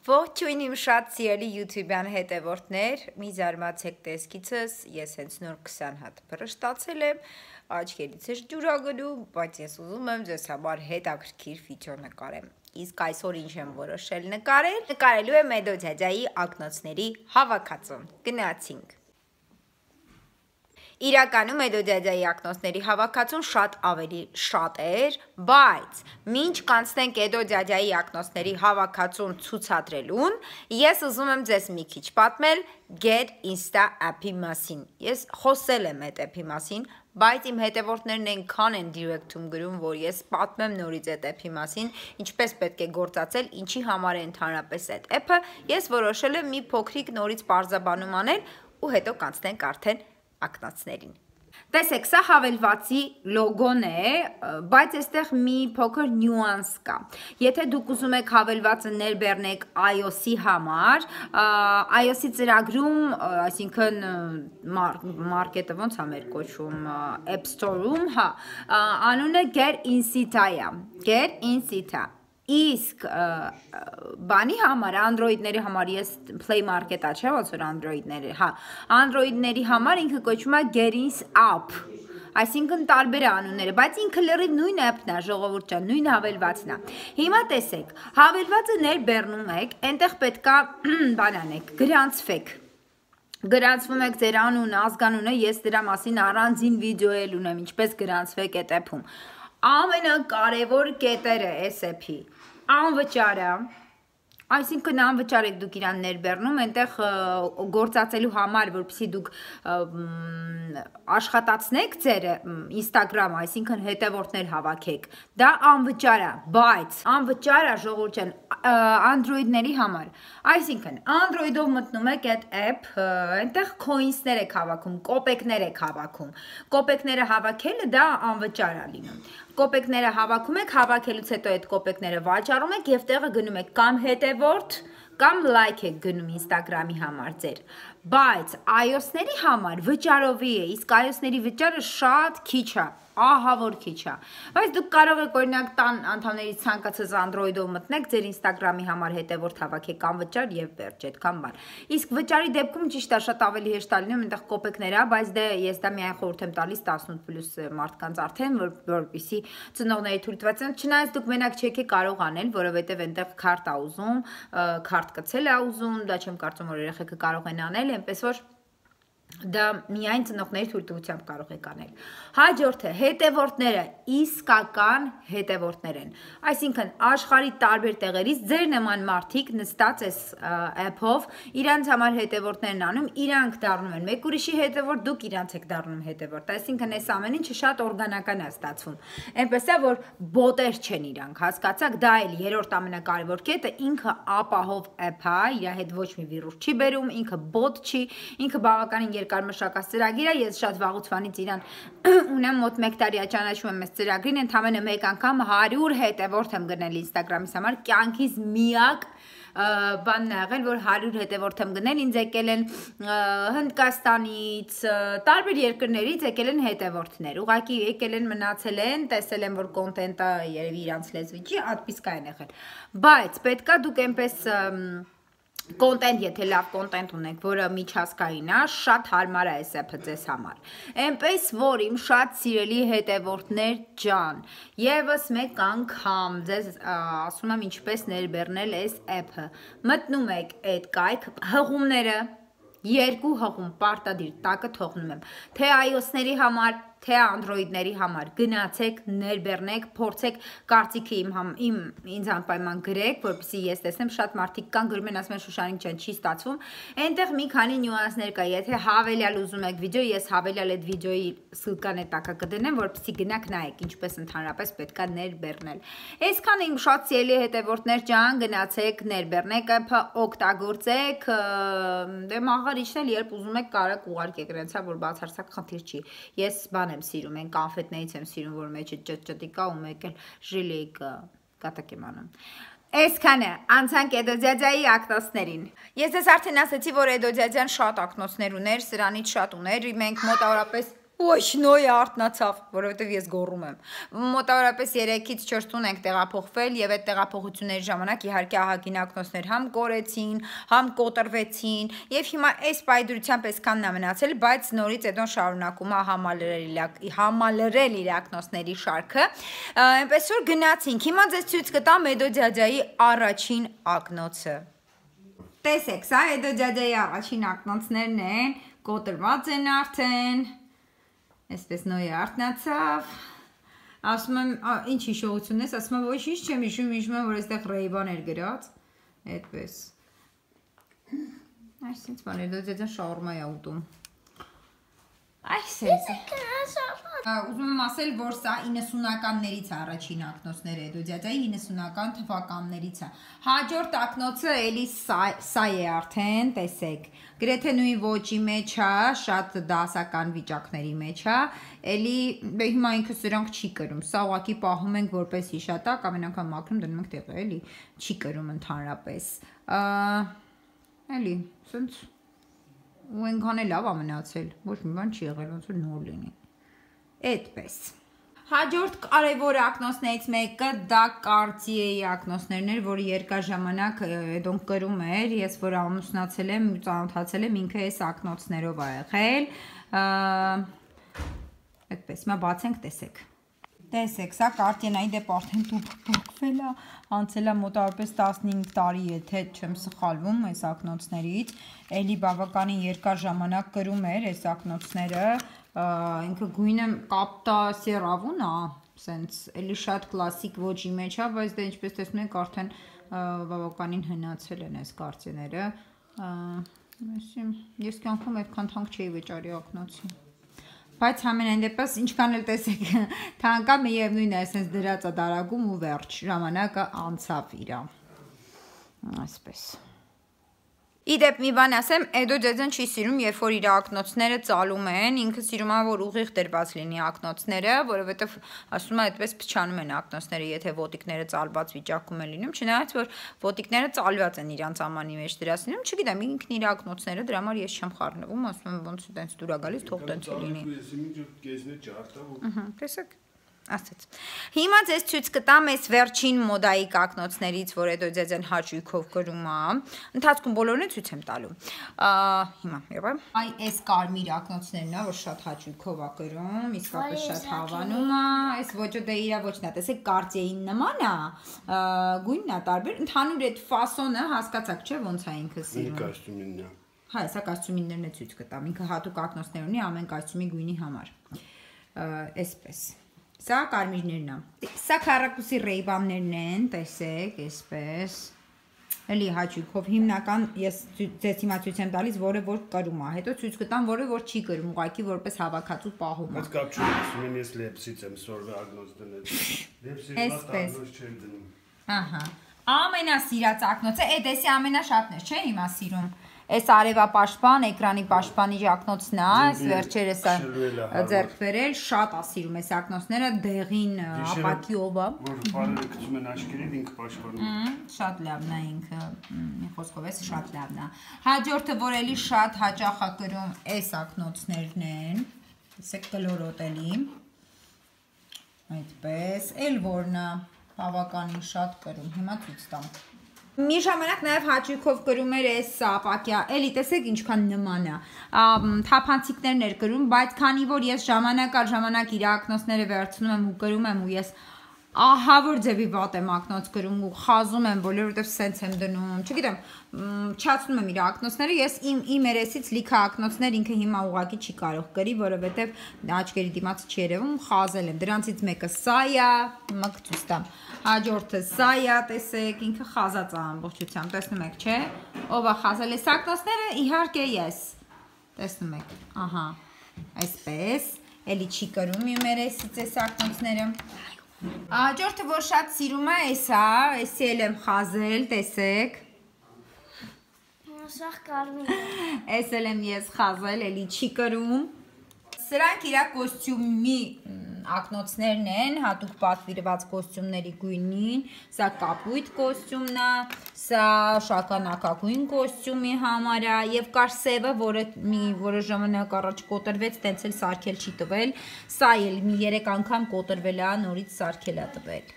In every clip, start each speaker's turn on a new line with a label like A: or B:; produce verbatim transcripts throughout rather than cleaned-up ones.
A: Ողջույն իմ շատ սիրելի YouTube-յան հետևորդներ, մի զարմացեք տեսքիցս, ես հենց նոր քսան հատ փռշտացել եմ, աչքերից է ջուր ա գնում, բայց ես ուզում եմ ձեզ համար հետաքրքիր վիդեո նկարեմ։ Իսկ այսօր ինչ եմ որոշել նկարել, նկարելու եմ Էդո ջաջայի ակնոցների հավաքածուն։ Գնացինք։ Իրականում Էդո ջաջայի ակնոցների հավաքածուն շատ ավելի շատ էր, բայց մինչ կանցնենք Էդո ջաջայի ակնոցների հավաքածուն ցուցադրելուն, ես ուզում եմ ձեզ մի քիչ պատմել Get Insta app-ի մասին։ Ես խոսել եմ այդ app-ի մասին, բայց իմ հետևորդներն այնքան են direct-ում գրում, որ ես պատմեմ նորից այդ app-ի մասին, ինչպես պետք է գործածել, ինչի համար է ընդհանրապես այդ app-ը, ես որոշել եմ մի փոքրիկ նորից պարզաբանում անել ու հետո կանցնենք արդեն ակնոցներին։ Տեսեք, սա հավելվածի լոգոն է, բայց այստեղ մի փոքր նյուանս կա։ Եթե դուք ուզում եք հավելվածը ներբեռնեք iOS-ի համար, iOS-ի ծրագրում, այսինքն մարքետը ոնց է մեր կոչվում, App Store-ում, հա, անունը Get Insta-ա, Get Insta-ա։ Իսկ բանի համար, Android-ների համար, ես Play Market-ա չէ, ոնց որ Android-ների, հա, Android-ների համար ինքը կոչվում է Get Insta App, այսինքն տարբեր անունները, բայց ինքը լրիվ նույն app-ն է, ժողովուրդ ջան, նույն հավելվածն է։ Հիմա տեսեք, հավելվածը ներբեռնում եք, այնտեղ պետքա բան անեք, գրանցվեք։ Գրանցվում եք ձեր անունը, ազգանունը, ես դրա մասին առանձին վիդեո էլ ունեմ, ինչպես գրանցվեք այդ app-ում։ Ամենակարևոր կետերը այս app-ի անվճար է, այսինքն անվճար եք դուք իրան ներբեռնում, այնտեղ գործածելու համար, որպեսզի դուք աշխատացնեք ձեր Instagram, այսինքն հետևորդներ հավաքեք, դա անվճար է, բայց անվճար է ժողովուրդ ջան Android-ների համար, այսինքն Android-ով մտնում եք այդ app, այնտեղ coins-ներ եք հավաքում, կոպեկներ եք հավաքում, կոպեկները հավաքելը դա անվճար է լինում, կոպեկները հավաքում եք, հավաքելուց հետո այդ կոպեկները վաճառում եք և տեղը գնում եք կամ հետևորդ, կամ like եք գնում Instagram-ի համար ձեր, բայց iOS-ների համար վճարովի է, իսկ iOS-ների վճարը շատ քիչ է, ահա որ քիչ է, բայց դուք կարող եք օրինակ տան անդամներից ցանկացած Android-ով մտնեք, ձեր Instagram-ի համար հետևորդ հավաքեք անվճար և վերջ, այդքան բան։ Իսկ վճարի դեպքում ճիշտ է, շատ ավելի հեշտ է լինում, այնտեղ կոպեկներ է, բայց դե ես դա միայն խորհուրդ եմ տալիս տասնութ պլյուս մարդկանց արդեն, որպեսզի ծնողների թույլ տված են, չնայած դուք մենակ չեք կարող անել, որովհետև այնտեղ քարտ է ուզում, քարտ կցել է ուզում, դա չեմ կարծում, որ երեխեքը կարող են անել, այնպես որ դա միայն ծնողների թույլտվությամբ կարող եք անել։ Հաջորդը հետևորդները իսկական հետևորդներ են, այսինքն աշխարհի տարբեր տեղերից ձեր նման մարդիկ նստած այս app-ով իրանց համար հետևորդներն անում, իրանք դառնում են մեկ ուրիշի հետևորդ, դուք իրանց եք դառնում հետևորդ, այսինքն այս ամեն ինչը շատ օրգանական է ստացվում, այնպես է, որ բոտեր չեն իրանք, հասկացաք, դա էլ երրորդ ամենակարևոր կետը, ինքը ապահով app է, իր հետ ոչ մի վիրուս չի բերում, ինքը բոտ չի, ինքը բավականին երկար մշակած ծրագիր է, ես շատ վաղուց վանից իրան ունեմ, մոտ մեկ տարի է ճանաչում եմ այս ծրագրին, ընդամենը մեկ անգամ հարյուր հետևորդ եմ գնել Instagram-իս համար, կյանքիս միակ բանն է եղել, որ հարյուր հետևորդ եմ գնել, ինձ եկել են Հնդկաստանից, տարբեր երկրներից եկել են հետևորդներ, ուղղակի եկել են, մնացել են, տեսել են, որ կոնտենտը երևի իրանց լեզվի չի, ատպիսկա են եղել, բայց պետքա դուք այնպես կոնտենտ, եթե լավ կոնտենտ ունեք, որը միջազգային է, շատ հարմար է այս app-ը ձեզ համար։ Այնպես որ իմ շատ սիրելի հետևորդներ ջան, ևս մեկ անգամ ձեզ ասում եմ ինչպես ներբեռնել այս app-ը։ Մտնում եք այդ կայք, հղումները, երկու հղում, պարտադիր, տակը թողնում եմ, թե iOS-ների համար, թե Android-ների համար, գնացեք, ներբեռնեք, փորձեք, կարծիքը իմ, իմ ինձ անպայման գրեք, որպեսզի ես տեսնեմ, շատ մարդիկ կան գրում են, ասում են Շուշանիկ ջան, չի ստացվում, այնտեղ մի քանի նյուանսներ կա, եթե հավելյալ ուզում եք վիդեո, ես հավելյալ այդ վիդեոյի սլկան այդ տակը կդնեմ, որպեսզի գնաք նայեք, ինչպես ընդհանրապես պետք է ներբեռնել։ Այսքան իմ շատ սիրելի հետևորդներ ջան, գնացեք, ներբեռնեք app-ը, օգտագործեք, դե մաղարիչն էլ երբ ուզում եք կարեք ուղարկեք, իրենցա որ բացարձակ խնդիր չի։ Ես բան եմ սիրում, այն կոնֆետներից եմ սիրում, որ մեջը ճտճտի կա ու մեկ էլ ժիլի կա, կատակ եմ անում։ Այսքանը, անցանք Էդո ջաջայի ակնոցներին։ Ես ձեզ արդեն ասացի, որ Էդո ջաջան շատ ակնոցներ ուներ, սրանից շատ ուներ, մենք մոտավորապես Ոյ, նոյ արտնացավ, որովհետև ես գոռում եմ։ Մոտավորապես երեքից չորս տուն ենք տեղափոխվել եւ այդ տեղափոխությունների ժամանակ իհարկե ահագին ակնոցներ համ կորեցին, համ կոտրվեցին եւ հիմա այս պայդրությամբ այսքանն է մնացել, բայց նորից Էդոն շարունակում է համալրել համալրել իր ակնոցների շարքը։ Այնպես որ գնացինք։ Հիմա ձեզ ցույց կտամ Էդո ջաջայի առաջին ակնոցը։ Տեսեք, սա Էդո ջաջայի առաջին ակնոցներն են, կոտրված են արդեն։ Այսպես նոյ արտնացավ, ասում եմ, ինչ հիշողություն ես, ասում եմ, ոչ ինչ չեմ հիշում, հիշում եմ, որ այստեղ Ռեյբան էր գրած, այդպես, այս ինձ բան էր, դա ձեզան շաուրմա է ուտում, այս ես է, ուզում եմ ասել, որ սա իննսունականներից առաջին ակնոցներ է, դու ձյաձայի իննսունական թվականներից է, հաջորդ ակնոցը էլի սա է արդեն, տեսեք, գրեթե նույն ոճի մեջ է, շատ դասական վիճակների մեջ է, էլի հիմա ինքը սրանք չի կրում, սա ուղղակի պահում ենք որպես հիշատակ, ամեն անգամ մաքրում դնում ենք տեղը, էլի չի կրում ընդհանրապես, էլի, սենց ու ենքան է լավ է մնացել, ոչ մի բան չի եղել, ոնց որ նոր լինի, այդպես։ Հաջորդ կարևոր ակնոցներից մեկը դա Cartier-ի ակնոցներն էր, որը երկար ժամանակ Էդոն կրում էր, ես որ ամուսնացել եմ, ծանոթացել եմ, ինքը այս ակնոցներով ա եղել, այդպես, հիմա բացենք, տեսեք։ Տեսեք, սա Cartier-ի դեպ արդեն փոխվել է, անցել է մոտավորապես տասնհինգ տարի, եթե չեմ սխալվում այս ակնոցներից, էլի բավականին երկար ժամանակ կրում էր այս ակնոցները, ինքը գույնը կապտա սերավուն է, սենց էլի շատ կլասիկ ոճի մեջ է, բայց դա ինչպես տեսնում եք արդեն բավականին հնացել են այս Cartier-ները, ես կյանքում այդքան թանկ չէի վճարի ակնոցի։ Բայց համենայն դեպս ինչքան էլ տեսեք թանկա միևնույն է այսպես դրած է դարակում ու վերջ ժամանակը անցավ իրա այսպես Իդեպ մի բան ասեմ, Էդո ջաջան չի սիրում, երբ որ իր ակնոցները ծալում են, ինքը սիրում է, որ ուղիղ դրված լինի ակնոցները, որովհետև ասում է այդպես փչանում են ակնոցները, եթե ոտիկները ծալված վիճակում են լինում, չնայած որ ոտիկները ծալված են իրանց ամանի մեջ դրած լինում, չգիտեմ, ինքն իր ակնոցները, դրա համար ես չեմ խառնվում, ասում եմ ոնց տենց դուր է գալիս, թող տենց լինի։ Տեսեք Ասաց։ Հիմա ձեզ ցույց կտամ այս վերջին մոդայիկ ակնոցներից, որ Էդո ջաջան հաճույքով կրում է։ Ընթացքում բոլորն է ցույց եմ տալու։ Հիմա, եղա։ Այ այս կարմիր ակնոցներն է, որ շատ հաճույքով է կրում, իսկապես շատ հավանում է։ Այս ոճը դե իրա ոճն է, տեսեք, Cartier-ին նման է, գույնն է տարբեր, ընդհանուր այդ ֆասոնը հասկացաք, չէ՞, ոնց է ինքը սիրում։ Կոստյումինն է։ Հա, սա կոստյումիններն է ցույց կտամ, ինքը հատուկ ակնոցներ ունի ամեն կոստյումի գույնի համար։ Այսպես Սա կարմիրներն է։ Սա քառակուսի Ռեյբաններն են, տեսեք, այսպես։ Էլի հաճույքով հիմնական ես ձեզ հիմա ցույց եմ տալիս, որը որ կրում է։ Հետո ցույց կտամ, որը որ չի կրում, ուղղակի որպես հավաքածու պահում է։
B: Բայց կապ չունի, ասում եմ ես լեպսից եմ սորվե ակնոց դնել։ Լեպսից ակնոց չեմ դնում։
A: Ահա։ Ամենասիրած ակնոցը, այդ էսի ամենաշատն է, չէ՞ հիմա սիրում։ Այս արևապաշտպան, էկրանի պաշտպանի ակնոցն է, այս վերջերս ձեռք բերել, շատ է սիրում այս ակնոցները, դեղին ապակիով է։
B: Որ բարերը գցում են աչքերին, ինքը պաշտպանում։
A: Շատ լավն է ինքը, մի խոսքով էս շատ լավն է։ Հաջորդը, որ էլի շատ հաճախ է կրում, այս ակնոցներն են, տեսեք կլորոտելի, այդպես, էլ որն է բավականին շատ կրում, հիմա ցույց տամ։ Մի ժամանակ նաև հաճույքով կրում էր այս ապակյա, էլի տեսեք ինչքան նման է, թափանցիկներն էր կրում, բայց քանի որ ես ժամանակ առ ժամանակ իր ակնոցները վերցնում եմ ու կրում եմ ու ես ահավոր ձևի վատ եմ ակնոց կրում ու խազում եմ, բոլորովհետև սենց եմ դնում, չգիտեմ, չացնում եմ իր ակնոցները, ես իմ իմ երեսից լիքը ակնոցներ ինքը հիմա ուղղակի չի կարող կրի, որովհետև աչքերի դիմաց չի երևում, խազել եմ, դրանցից մեկը սա է, հիմա կցույց տամ, հաջորդը սա է, տեսեք, ինքը խազած է ամբողջությամբ, տեսնում եք, չէ՞, ով է խազել այս ակնոցները, իհարկե ես, տեսնում եք, ահա, այսպես, էլի չի կրում իմ երեսից այս ակնոցները Հաջորդը, որ շատ սիրում է, այս է, այսի էլ եմ խազել, տեսեք։
C: Սաղ կարմիր է։
A: Այս էլ եմ ես խազել, էլի չի կրում։ Սրանք իրա կոստյումի ակնոցներն են, հատուկ պատվիրված կոստյումների գույնին, սա կապույտ կոստյումն է, սա շագանակագույն կոստյումի համար է, եւ կար սևը, որը մի որը ժամանակ առաջ կոտրվեց, տենց էլ սարքել չի տվել, սա էլ մի երեք անգամ կոտրվել է, նորից սարքել է տվել։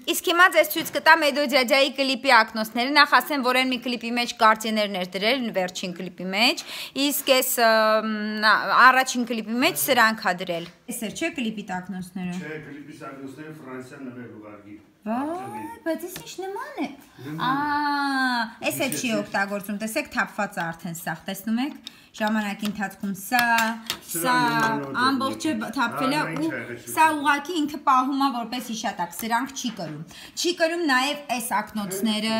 A: Իսկ հիմա ձեզ ցույց կտամ Էդո Ջաջայի կլիպի ակնոցները, նախ ասեմ, որ այն մի կլիպի մեջ կարծիներն էր դրել, վերջին կլիպի մեջ, իսկ այս առաջին կլիպի մեջ սրանք է դրել։ Էս էր չէ կլիպի ակնոցները։
B: Չէ, կլիպի ակնոցները Ֆրանսիան նվեր ուղարկի։
A: Վայ, բայց ես ինչ նման է։ Ա, էս էլ չի օգտագործում, տեսեք թափված է արդեն սաղ, տեսնում եք։ Ժամանակի ընթացքում սա, սա ամբողջը թափվել է ու սա ուղղակի ինքը պահում է որպես հիշատակ, սրանք չի կրում։ Չի կրում նաև այս ակնոցները,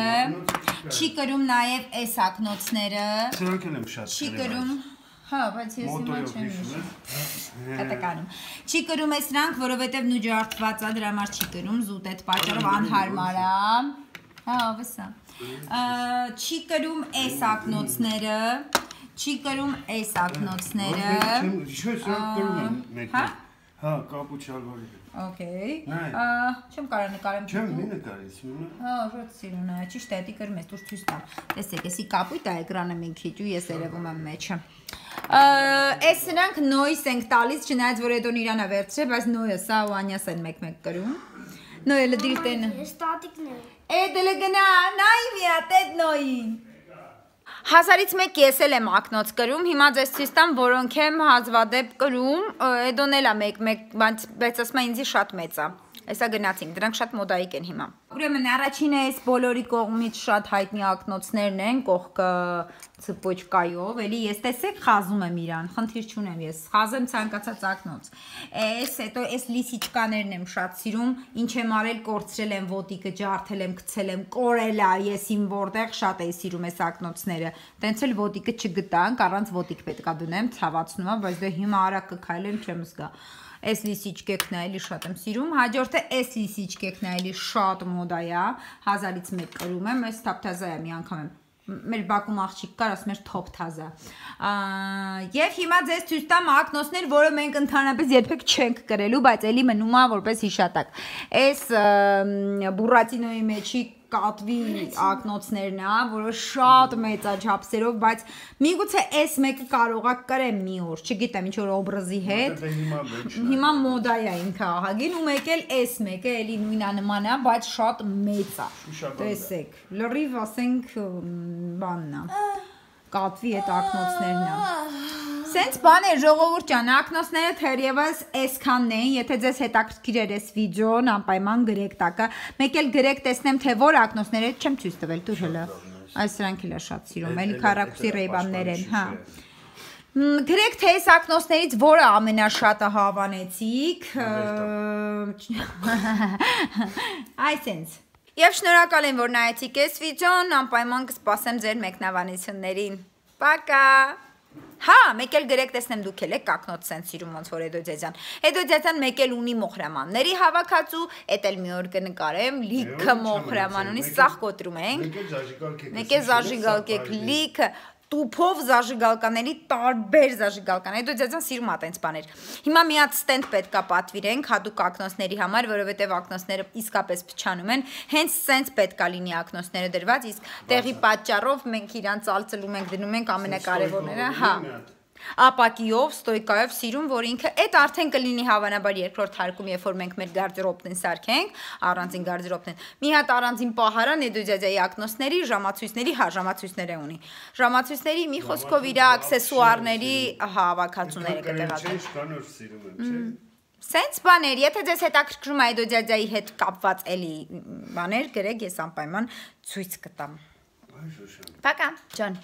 A: չի կրում նաև այս ակնոցները։
B: Սրանք էլ եմ շատ
A: չի կրում։ Հա, բայց ես հիմա չեմ հիշում։ Կտականում։ Չի կրում է սրանք, որովհետև նու ջարդված է, դրա համար չի կրում, զուտ այդ պատճառով անհարմար է։ Հա, վսա։ Չի կրում այս ակնոցները, չի կրում այս ակնոցները։
B: Չէ, սրանք կրում են մեկը։ Հա, կապուչալվարի։ Okay։ Չեմ կարող նկարեմ։ Չեմ մի նկարես։ Հա, շատ սիրուն է։ Ճիշտ է, դի կրում ես, դուր ցույց տամ։ Տեսեք, էսի կապույտ է էկրանը մի քիչ ու ես երևում եմ մեջը։ Այս սրանք նոյս ենք տալիս, չնայած որ Էդոն իրան է վերցրել, բայց նոյը սա ու Անյաս են մեկ-մեկ կրում։ Նոյը լդիր տեն։
C: Ստատիկներ։
A: Էդը գնա, նայ մի հատ էդ նոյին։ Հազարից մեկ ես էլ եմ ակնոց կրում, հիմա ձեզ ցույց տամ, որոնք եմ հազվադեպ կրում, Էդոն էլ է մեկ-մեկ, բայց ասում է ինձի շատ մեծ է։ Այսա գնացինք, դրանք շատ մոդայիկ են հիմա։ Ուրեմն առաջինը այս բոլորի կողմից շատ հայտնի ակնոցներն են, կողքը ցպոչկայով, էլի ես տեսեք խազում եմ իրան, խնդիր չունեմ ես, խազեմ ցանկացած ակնոց։ Այս հետո այս լիսիչկաներն եմ շատ սիրում, ինչ եմ արել, կորցրել եմ ոտիկը, ջարդել եմ, գցել եմ, կորել է, ես իմ որտեղ շատ էի սիրում այս ակնոցները։ Տենց էլ ոտիկը չգտանք, առանց ոտիկ պետքա դնեմ, ցավացնում է, բայց դե հիմա արագ կքայլեմ, չեմ զգա։ Այս լիսիչկեքն է, էլի շատ եմ սիրում, հաջորդը այս լիսիչկեքն է, էլի շատ մոդա է, հազարից մեկ կրում եմ, այս թափթազա է մի անգամ եմ, մեր բակում աղջիկ կար, ասում էր թոփթազա, և հիմա ձեզ ցույց տամ ակնոցներ, որը մենք ընդհանրապես երբեք չենք կրելու, բայց էլի մնում է որպես հիշատակ, այս բուրատինոյի մեջի կատվի ակնոցներն է, որը շատ մեծ է չափսերով, բայց միգուցե այս մեկը կարող է կրեմ մի օր, չգիտեմ ինչ որ օբրազի հետ։ Հիմա մոդա է ինքը ահագին ու մեկ էլ այս մեկը էլի նույնանման է, բայց շատ մեծ է։ Տեսեք, լրիվ ասենք բանն է։ Կատվի այդ ակնոցներն է։ Սենց բան է ժողովուրդ ջան, ակնոցները թերևս այսքանն են, եթե ձեզ հետաքրքիր էր այս վիդեոն, անպայման գրեք տակը, մեկ էլ գրեք տեսնեմ, թե որ ակնոցները չեմ ցույց տվել, դուր հլը, այս սրանք էլ է շատ սիրում, էլի քառակուսի ռեյբաններ են, հա։ Գրեք, թե այս ակնոցներից որը ամենաշատը հավանեցիք, այսենց։ Եվ շնորհակալ եմ, որ նայեցիք այս վիդեոն, անպայման կսպասեմ ձեր մեկնաբանություններին։ Պակա։ Հա, մեկ էլ գրեք տեսնեմ դուք էլ եք ակնոց սենց սիրում ոնց որ Էդո Ջաջան։ Էդո Ջաջան մեկ էլ ունի մոխրամանների հավաքածու, էդ էլ մի օր կնկարեմ, լիքը մոխրաման ունի, սաղ կոտրում ենք։ Մեկ էլ զաժիգալ կեք լիքը տուփով զաժիգալկաների տարբեր զաժիգալկան։ Էդո Ջաջան սիրում է տենց բաներ։ Հիմա մի հատ ստենդ պետքա պատվիրենք հատուկ ակնոցների համար, որովհետև ակնոցները իսկապես փչանում են, հենց սենց պետքա լինի ակնոցները դրված, իսկ տեղի պատճառով մենք իրան ծալծլում ենք, դնում ենք ամենակարևորները, հա։ Ապակիով, ստոյկայով սիրում, որ ինքը այդ արդեն կլինի հավանաբար երկրորդ հարկում, երբ որ մենք մեր գարդերոբն սարքենք, առանձին գարդերոբն։ Մի հատ առանձին պահարան Էդո Ջաջայի ակնոցների, ժամացույցների, հա, ժամացույցները ունի։ Ժամացույցների մի խոսքով իր աքսեսուարների հավաքածուները կտեղադրենք։ Սենց բաներ, եթե ձեզ հետաքրքրում է Էդո Ջաջայի հետ կապված էլի բաներ, գրեք, ես անպայման ցույց կտամ։ Պակա, ջան։